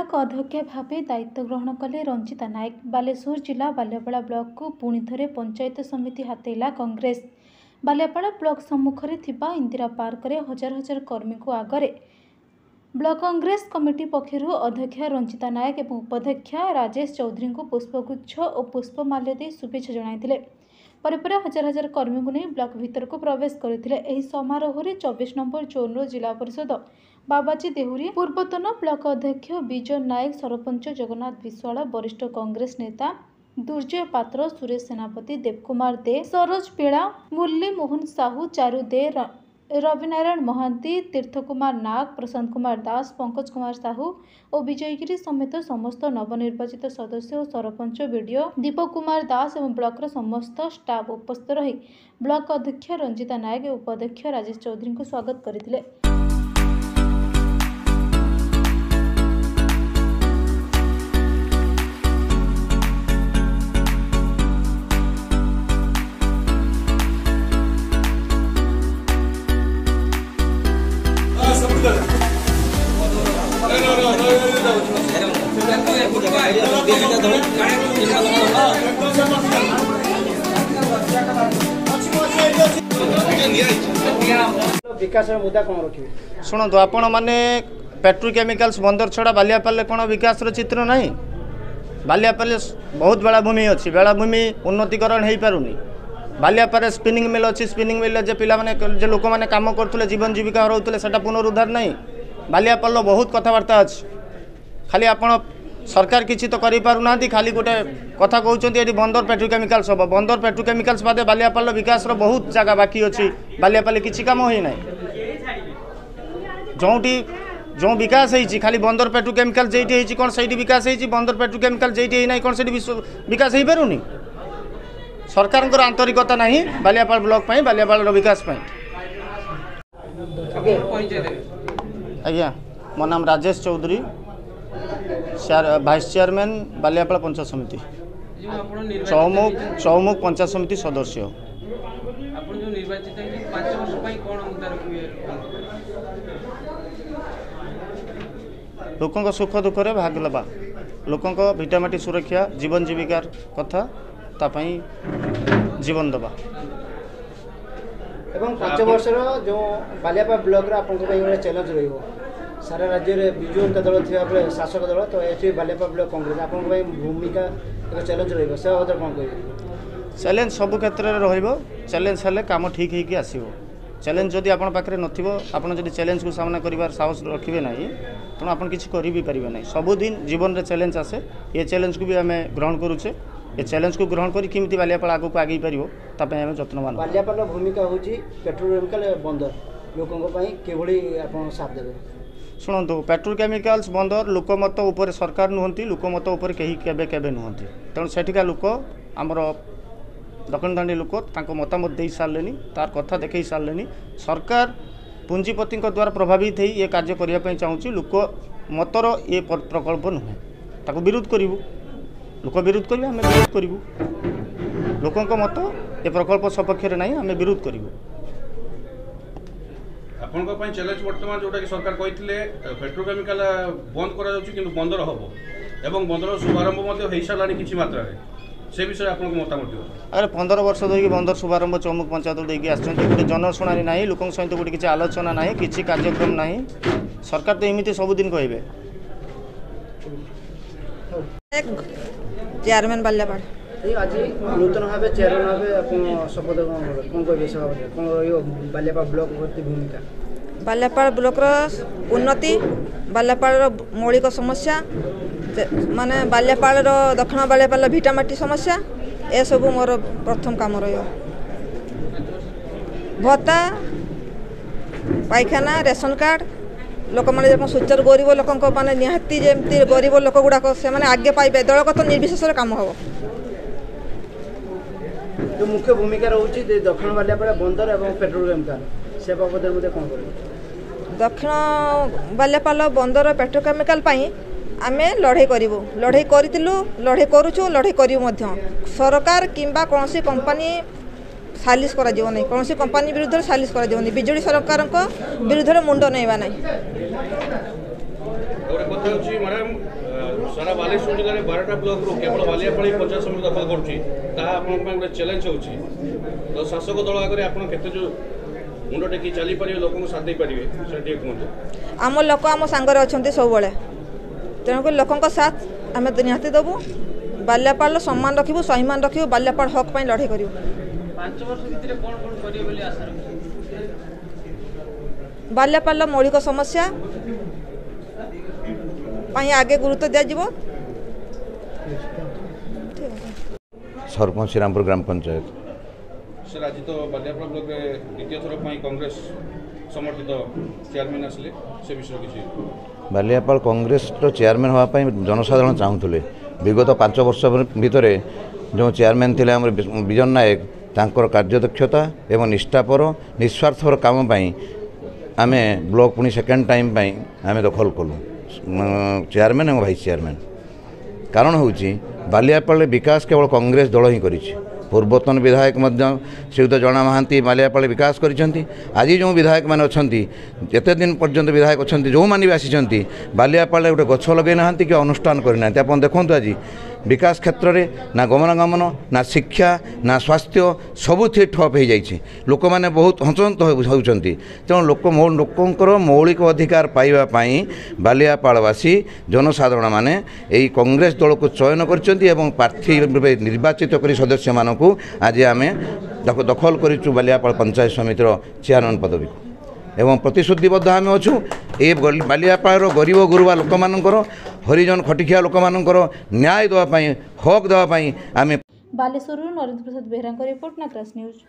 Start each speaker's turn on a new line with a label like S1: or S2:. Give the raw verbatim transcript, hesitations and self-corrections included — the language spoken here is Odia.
S1: ବ୍ଲକ ଅଧ୍ୟକ୍ଷା ଭାବେ ଦାୟିତ୍ୱ ଗ୍ରହଣ କଲେ ରଞ୍ଜିତା ନାୟକ। ବାଲେଶ୍ୱର ଜିଲ୍ଲା ବାଲିଆପାଳ ବ୍ଲକକୁ ପୁଣି ଥରେ ପଞ୍ଚାୟତ ସମିତି ହାତେଇଲା କଂଗ୍ରେସ। ବାଲିଆପାଳ ବ୍ଲକ ସମ୍ମୁଖରେ ଥିବା ଇନ୍ଦିରା ପାର୍କରେ ହଜାର ହଜାର କର୍ମୀଙ୍କୁ ଆଗରେ ବ୍ଲକ କଂଗ୍ରେସ କମିଟି ପକ୍ଷରୁ ଅଧ୍ୟକ୍ଷା ରଞ୍ଜିତା ନାୟକ ଏବଂ ଉପାଧ୍ୟକ୍ଷା ରାଜେଶ ଚୌଧୁରୀଙ୍କୁ ପୁଷ୍ପଗୁଚ୍ଛ ଓ ପୁଷ୍ପମାଲ୍ୟ ଦେଇ ଶୁଭେଚ୍ଛା ଜଣାଇଥିଲେ। ପରେ ପରେ ହଜାର ହଜାର କର୍ମୀଙ୍କୁ ନେଇ ବ୍ଲକ ଭିତରକୁ ପ୍ରବେଶ କରିଥିଲେ। ଏହି ସମାରୋହରେ ଚବିଶ ନମ୍ବର ଜୋନ୍ର ଜିଲ୍ଲା ପରିଷଦ ବାବାଜୀ ଦେହୁରୀ, ପୂର୍ବତନ ବ୍ଲକ ଅଧ୍ୟକ୍ଷ ବିଜୟ ନାୟକ, ସରପଞ୍ଚ ଜଗନ୍ନାଥ ବିଶ୍ୱାଳ, ବରିଷ୍ଠ କଂଗ୍ରେସ ନେତା ଦୁର୍ଜୟ ପାତ୍ର, ସୁରେଶ ସେନାପତି, ଦେବକୁମାର ଦେ, ସରୋଜ ପିଳା, ମୁରଲୀ ମୋହନ ସାହୁ, ଚାରୁ ଦେ, ରବିନାରାୟଣ ମହାନ୍ତି, ତୀର୍ଥ କୁମାର ନାଗ, ପ୍ରଶାନ୍ତ କୁମାର ଦାସ, ପଙ୍କଜ କୁମାର ସାହୁ ଓ ବିଜୟଗିରି ସମେତ ସମସ୍ତ ନବନିର୍ବାଚିତ ସଦସ୍ୟ ଓ ସରପଞ୍ଚ, ବିଡିଓ ଦୀପକ କୁମାର ଦାସ ଏବଂ ବ୍ଲକର ସମସ୍ତ ଷ୍ଟାଫ୍ ଉପସ୍ଥିତ ରହି ବ୍ଲକ ଅଧ୍ୟକ୍ଷ ରଞ୍ଜିତା ନାୟକ ଓ ଉପାଧ୍ୟକ୍ଷ ରାଜେଶ ଚୌଧୁରୀଙ୍କୁ ସ୍ୱାଗତ କରିଥିଲେ।
S2: ବିକାଶର ମୁଦ୍ଦା କ'ଣ ରଖିବେ?
S3: ଶୁଣନ୍ତୁ, ଆପଣମାନେ ପେଟ୍ରୋକେମିକାଲ୍ସ ବନ୍ଦର ଛଡ଼ା ବାଲିଆପାଳରେ କ'ଣ ବିକାଶର ଚିତ୍ର ନାହିଁ? ବାଲିଆପାଳରେ ବହୁତ ବେଳାଭୂମି ଅଛି, ବେଳାଭୂମି ଉନ୍ନତିକରଣ ହେଇପାରୁନି। ବାଲିଆପାଳରେ ସ୍ପିନିଂ ମିଲ୍ ଅଛି, ସ୍ପିନିଂ ମିଲ୍ରେ ଯେ ପିଲାମାନେ, ଯେ ଲୋକମାନେ କାମ କରୁଥିଲେ, ଜୀବନ ଜୀବିକା ହରାଉଥିଲେ, ସେଟା ପୁନରୁଦ୍ଧାର ନାହିଁ। ବାଲିଆପାଳର ବହୁତ କଥାବାର୍ତ୍ତା ଅଛି। ଖାଲି ଆପଣ ସରକାର କିଛି ତ କରିପାରୁନାହାନ୍ତି, ଖାଲି ଗୋଟେ କଥା କହୁଛନ୍ତି ଏଠି ବନ୍ଦର ପେଟ୍ରୋକେମିକାଲ୍ସ ହେବ। ବନ୍ଦର ପେଟ୍ରୋକେମିକାଲ୍ସ ବାଦେ ବାଲିଆପାଳର ବିକାଶର ବହୁତ ଜାଗା ବାକି ଅଛି। ବାଲିଆପାଳରେ କିଛି କାମ ହେଇନାହିଁ। ଯେଉଁଠି ଯେଉଁ ବିକାଶ ହେଇଛି, ଖାଲି ବନ୍ଦର ପେଟ୍ରୋକେମିକାଲ ଯେଇଠି ହେଇଛି କ'ଣ ସେଇଠି ବିକାଶ ହେଇଛି? ବନ୍ଦର ପେଟ୍ରୋକେମିକାଲ ଯେଇଠି ହେଇନାହିଁ କ'ଣ ସେଇଠି ବିକାଶ ହେଇପାରୁନି? ସରକାରଙ୍କର ଆନ୍ତରିକତା ନାହିଁ ବାଲିଆପାଳ ବ୍ଲକ ପାଇଁ, ବାଲିଆପାଳର ବିକାଶ ପାଇଁ। ଆଜ୍ଞା, ମୋ ନାମ ରାଜେଶ ଚୌଧୁରୀ, ଭାଇସ୍ ଚେୟାରମ୍ୟାନ୍ ବାଲିଆପାଳ ପଞ୍ଚାୟତ ସମିତି, ଚୌମୁଖ ଚୌମୁଖ ପଞ୍ଚାୟତ ସମିତି ସଦସ୍ୟ।
S4: ଆପଣ ଯେଉଁ ନିର୍ବାଚିତ ହେଇଛନ୍ତି, ପାଞ୍ଚ ବର୍ଷ ପାଇଁ କ'ଣ ମୁଦ୍ଦା ରଖିବେ?
S3: ଲୋକଙ୍କ ସୁଖ ଦୁଃଖରେ ଭାଗ ନେବା, ଲୋକଙ୍କ ଭିଟାମାଟି ସୁରକ୍ଷା, ଜୀବନ ଜୀବିକାର କଥା, ତା ପାଇଁ ଜୀବନ ଦେବା।
S2: ଏବଂ ପାଞ୍ଚ ବର୍ଷର ଯେଉଁ ବାଲିଆପାଳ ବ୍ଲକର ଆପଣଙ୍କ ପାଇଁ ଗୋଟେ ଚ୍ୟାଲେଞ୍ଜ ରହିବ। ସାରା ରାଜ୍ୟରେ ବିଜୁ ଜନତା ଦଳ ଥିବା ବେଳେ ଶାସକ ଦଳ, ତ ଏଠି ବାଲିଆପାଳ ବ୍ଲକ କଂଗ୍ରେସ, ଆପଣଙ୍କ ପାଇଁ ଭୂମିକା ଏକ ଚ୍ୟାଲେଞ୍ଜ ରହିବ, ସେ ବାବଦରେ କ'ଣ କହିବେ?
S3: ଚ୍ୟାଲେଞ୍ଜ ସବୁ କ୍ଷେତ୍ରରେ ରହିବ। ଚ୍ୟାଲେଞ୍ଜ ହେଲେ କାମ ଠିକ୍ ହେଇକି ଆସିବ। ଚ୍ୟାଲେଞ୍ଜ ଯଦି ଆପଣ ପାଖରେ ନଥିବ, ଆପଣ ଯଦି ଚ୍ୟାଲେଞ୍ଜକୁ ସାମ୍ନା କରିବାର ସାହସ ରଖିବେ ନାହିଁ, ତେଣୁ ଆପଣ କିଛି କରି ବି ପାରିବେ ନାହିଁ। ସବୁଦିନ ଜୀବନରେ ଚ୍ୟାଲେଞ୍ଜ ଆସେ। ଏ ଚ୍ୟାଲେଞ୍ଜକୁ ବି ଆମେ ଗ୍ରହଣ କରୁଛେ। ଏ ଚ୍ୟାଲେଞ୍ଜକୁ ଗ୍ରହଣ କରି କେମିତି ବାଲିଆପାଳ ଆଗକୁ ଆଗେଇ ପାରିବ, ତା ପାଇଁ ଆମେ ଯତ୍ନବାନ।
S2: ବାଲିଆପାଳର ଭୂମିକା ହେଉଛି ପେଟ୍ରୋକେମିକାଲ ବନ୍ଦର, ଲୋକଙ୍କ ପାଇଁ କିଭଳି ଆପଣ ସାଥ ଦେବେ?
S3: ଶୁଣନ୍ତୁ, ପେଟ୍ରୋକେମିକାଲ୍ସ ବନ୍ଦର ଲୋକମତ ଉପରେ ସରକାର ନୁହନ୍ତି, ଲୋକମତ ଉପରେ କେହି କେବେ କେବେ ନୁହନ୍ତି। ତେଣୁ ସେଠିକା ଲୋକ, ଆମର ଦକ୍ଷିଣଦାଣ୍ଡି ଲୋକ ତାଙ୍କ ମତାମତ ଦେଇ ସାରିଲେନି, ତାର କଥା ଦେଖେଇ ସାରିଲେନି। ସରକାର ପୁଞ୍ଜିପତିଙ୍କ ଦ୍ୱାରା ପ୍ରଭାବିତ ହେଇ ଏ କାର୍ଯ୍ୟ କରିବା ପାଇଁ ଚାହୁଁଛି। ଲୋକ ମତର ଏ ପ୍ରକଳ୍ପ ନୁହେଁ, ତାକୁ ବିରୋଧ କରିବୁ। ଲୋକ ବିରୋଧ କରିବେ, ଆମେ ବିରୋଧ କରିବୁ। ଲୋକଙ୍କ ମତ ଏ ପ୍ରକଳ୍ପ ସପକ୍ଷରେ ନାହିଁ, ଆମେ ବିରୋଧ କରିବୁ।
S5: ଆପଣଙ୍କ ପାଇଁ ଚ୍ୟାଲେଞ୍ଜ ବର୍ତ୍ତମାନ ଯେଉଁଟାକି ସରକାର କହିଥିଲେ ପେଟ୍ରୋକେମିକାଲ ବନ୍ଦ କରାଯାଉଛି, କିନ୍ତୁ ବନ୍ଦର ହେବ ଏବଂ ବନ୍ଦର ଶୁଭାରମ୍ଭ ମଧ୍ୟ ହେଇସାରିଲାଣି କିଛି ମାତ୍ରାରେ, ସେ ବିଷୟରେ ଆପଣଙ୍କ ମତାମତ ଦିଅନ୍ତୁ।
S3: ଆରେ, ପନ୍ଦର ବର୍ଷ ଧରିକି ବନ୍ଦର ଶୁଭାରମ୍ଭ ଚୌମୁଖ ପଞ୍ଚାୟତ ଦେଇକି ଆସିଛନ୍ତି। ଗୋଟେ ଜନଶୁଣାଣି ନାହିଁ, ଲୋକଙ୍କ ସହିତ ଗୋଟେ କିଛି ଆଲୋଚନା ନାହିଁ, କିଛି କାର୍ଯ୍ୟକ୍ରମ ନାହିଁ। ସରକାର ତ ଏମିତି ସବୁଦିନ କହିବେ।
S6: ଚେୟାରମ୍ୟାନ୍ ବାଲିଆପାଳ।
S2: ଆଜି ନୂତନ ଭାବେ ଚେୟାରମ୍ୟାନ୍ ଭାବେ ଆପଣ ଶପଥ ଗ୍ରହଣ କଲେ, କ'ଣ କହିବେ ସେ ବାବଦରେ? କ'ଣ ରହିବ ବାଲିଆପାଳ ବ୍ଲକ ପ୍ରତି ଭୂମିକା?
S6: ବାଲିଆପାଳ ବ୍ଲକର ଉନ୍ନତି, ବାଲିଆପାଳର ମୌଳିକ ସମସ୍ୟା, ମାନେ ବାଲିଆପାଳର ଦକ୍ଷିଣ ବାଲିଆପାଳର ଭିଟାମାଟି ସମସ୍ୟା, ଏସବୁ ମୋର ପ୍ରଥମ କାମ ରହିବ। ଭତ୍ତା, ପାଇଖାନା, ରେସନ କାର୍ଡ଼, ଲୋକମାନେ ଯେମିତି ସୁଚାରୁ, ଗରିବ ଲୋକଙ୍କ ମାନେ ନିହାତି ଯେମିତି ଗରିବ ଲୋକ ଗୁଡ଼ାକ ସେମାନେ ଆଗେ ପାଇବେ, ଦଳଗତ ନିର୍ବିଶେଷରେ କାମ ହେବ।
S2: ଯେଉଁ ମୁଖ୍ୟ ଭୂମିକା ରହୁଛି ଦକ୍ଷିଣ ବାଲିଆପାଳ ବନ୍ଦର ଏବଂ ପେଟ୍ରୋକେମିକାଲ, ସେ ବାବଦରେ ମଧ୍ୟ କ'ଣ କରିବେ?
S6: ଦକ୍ଷିଣ ବାଲିଆପାଳ ବନ୍ଦର ପେଟ୍ରୋକେମିକାଲ ପାଇଁ ଆମେ ଲଢ଼େଇ କରିବୁ। ଲଢ଼େଇ କରିଥିଲୁ, ଲଢ଼େଇ କରୁଛୁ, ଲଢ଼େଇ କରିବୁ ମଧ୍ୟ। ସରକାର କିମ୍ବା କୌଣସି କମ୍ପାନୀ ସାଲିସ କରାଯିବ ନାହିଁ, କୌଣସି କମ୍ପାନୀ ବିରୁଦ୍ଧରେ ସାଲିସ କରାଯିବନି। ବିଜେଡ଼ି ସରକାରଙ୍କ ବିରୁଦ୍ଧରେ ମୁଣ୍ଡ ନେଇବା ନାହିଁ।
S5: ଗୋଟେ କଥା। କଥା ହେଉଛି ମ୍ୟାଡ଼ାମ୍, ସାରା ବାଲେଶ୍ୱର ଜିଲ୍ଲାରେ ବାରଟା ବ୍ଲକରୁ କେବଳ ବାଲିଆପାଳ ପଞ୍ଚାୟତ ସମିତି ଦଖଲ କରୁଛି, ତାହା ଆପଣଙ୍କ ପାଇଁ ଗୋଟେ ଚ୍ୟାଲେଞ୍ଜ ହେଉଛି। ତ ଶାସକ ଦଳ ଆଗରେ ଆପଣ କେତେ ଯେଉଁ ମୁଣ୍ଡ ଟେକି ଚାଲିପାରିବେ, ଲୋକଙ୍କୁ ସାଥ ଦେଇପାରିବେ, ସେଟା ଟିକେ କୁହନ୍ତୁ।
S6: ଆମ ଲୋକ ଆମ ସାଙ୍ଗରେ ଅଛନ୍ତି ସବୁବେଳେ, ତେଣୁକରି ଲୋକଙ୍କ ସାଥ ଆମେ ନିହାତି ଦେବୁ। ବାଲିଆପାଳର ସମ୍ମାନ ରଖିବୁ, ସ୍ୱାଭିମାନ ରଖିବୁ, ବାଲିଆପାଳ ହକ୍ ପାଇଁ ଲଢ଼େଇ କରିବୁ।
S4: ପାଞ୍ଚ ବର୍ଷ ଭିତରେ କ'ଣ କ'ଣ କରିବେ ବୋଲି ଆଶା ରଖିଛନ୍ତି?
S6: ବାଲିଆପାଳର ମୌଳିକ ସମସ୍ୟା ପାଇଁ ଆଗେ ଗୁରୁତ୍ୱ ଦିଆଯିବ।
S7: ସରପଞ୍ଚ, ଶ୍ରୀରାମପୁର ଗ୍ରାମ ପଞ୍ଚାୟତ।
S5: ସାର୍, ଆଜି ତ ବାଲିଆପାଳ ବ୍ଲକରେ ଦ୍ୱିତୀୟ ଥର ପାଇଁ କଂଗ୍ରେସ ସମର୍ଥିତ ଚେୟାରମ୍ୟାନ୍ ଆସିଲେ, ସେ ବିଷୟରେ କିଛି?
S7: ବାଲିଆପାଳ କଂଗ୍ରେସର ଚେୟାରମ୍ୟାନ୍ ହେବା ପାଇଁ ଜନସାଧାରଣ ଚାହୁଁଥିଲେ। ବିଗତ ପାଞ୍ଚ ବର୍ଷ ଭିତରେ ଯେଉଁ ଚେୟାରମ୍ୟାନ୍ ଥିଲେ ଆମର ବିଜନ ନାୟକ, ତାଙ୍କର କାର୍ଯ୍ୟଦକ୍ଷତା ଏବଂ ନିଷ୍ଠାପର ନିସ୍ୱାର୍ଥପର କାମ ପାଇଁ ଆମେ ବ୍ଲକ ପୁଣି ସେକେଣ୍ଡ ଟାଇମ୍ ପାଇଁ ଆମେ ଦଖଲ କଲୁ ଚେୟାରମ୍ୟାନ୍ ଏବଂ ଭାଇସ୍ ଚେୟାରମ୍ୟାନ୍। କାରଣ ହେଉଛି ବାଲିଆପାଳରେ ବିକାଶ କେବଳ କଂଗ୍ରେସ ଦଳ ହିଁ କରିଛି। ପୂର୍ବତନ ବିଧାୟକ ମଧ୍ୟ ଶ୍ରୀଯୁକ୍ତ ଜଣା ମହାନ୍ତି ବାଲିଆପାଳ ବିକାଶ କରିଛନ୍ତି। ଆଜି ଯେଉଁ ବିଧାୟକମାନେ ଅଛନ୍ତି, ଯେତେ ଦିନ ପର୍ଯ୍ୟନ୍ତ ବିଧାୟକ ଅଛନ୍ତି, ଯେଉଁମାନେ ବି ଆସିଛନ୍ତି, ବାଲିଆପାଳରେ ଗୋଟେ ଗଛ ଲଗାଇ ନାହାନ୍ତି କି ଅନୁଷ୍ଠାନ କରିନାହାନ୍ତି। ଆପଣ ଦେଖନ୍ତୁ, ଆଜି ବିକାଶ କ୍ଷେତ୍ରରେ ନା ଗମନାଗମନ, ନା ଶିକ୍ଷା, ନା ସ୍ୱାସ୍ଥ୍ୟ, ସବୁଥିରେ ଠପ୍ ହୋଇଯାଇଛି। ଲୋକମାନେ ବହୁତ ହନ୍ତସନ୍ତ ହେଉଛନ୍ତି। ତେଣୁ ଲୋକ ଲୋକଙ୍କର ମୌଳିକ ଅଧିକାର ପାଇବା ପାଇଁ ବାଲିଆପାଳବାସୀ ଜନସାଧାରଣମାନେ ଏହି କଂଗ୍ରେସ ଦଳକୁ ଚୟନ କରିଛନ୍ତି ଏବଂ ପ୍ରାର୍ଥୀ ରୂପେ ନିର୍ବାଚିତ କରି ସଦସ୍ୟମାନଙ୍କୁ ଆଜି ଆମେ ଦଖଲ କରିଛୁ ବାଲିଆପାଳ ପଞ୍ଚାୟତ ସମିତିର ଚେୟାରମ୍ୟାନ୍ ପଦବୀକୁ ଏବଂ ପ୍ରତିଶ୍ରୁତିବଦ୍ଧ ଆମେ ଅଛୁ ଏ ବାଲିଆପାଳର ଗରିବ ଗୁରୁବା ଲୋକମାନଙ୍କର, ହରିଜନ ଖଟିଖିଆ ଲୋକମାନଙ୍କର ନ୍ୟାୟ ଦେବା ପାଇଁ, ହକ୍ ଦେବା ପାଇଁ ଆମେ।
S1: ବାଲେଶ୍ୱରରୁ ନରେନ୍ଦ୍ର ପ୍ରସାଦ ବେହେରାଙ୍କ ରିପୋର୍ଟ, ନାଗରାଜ ନ୍ୟୁଜ୍।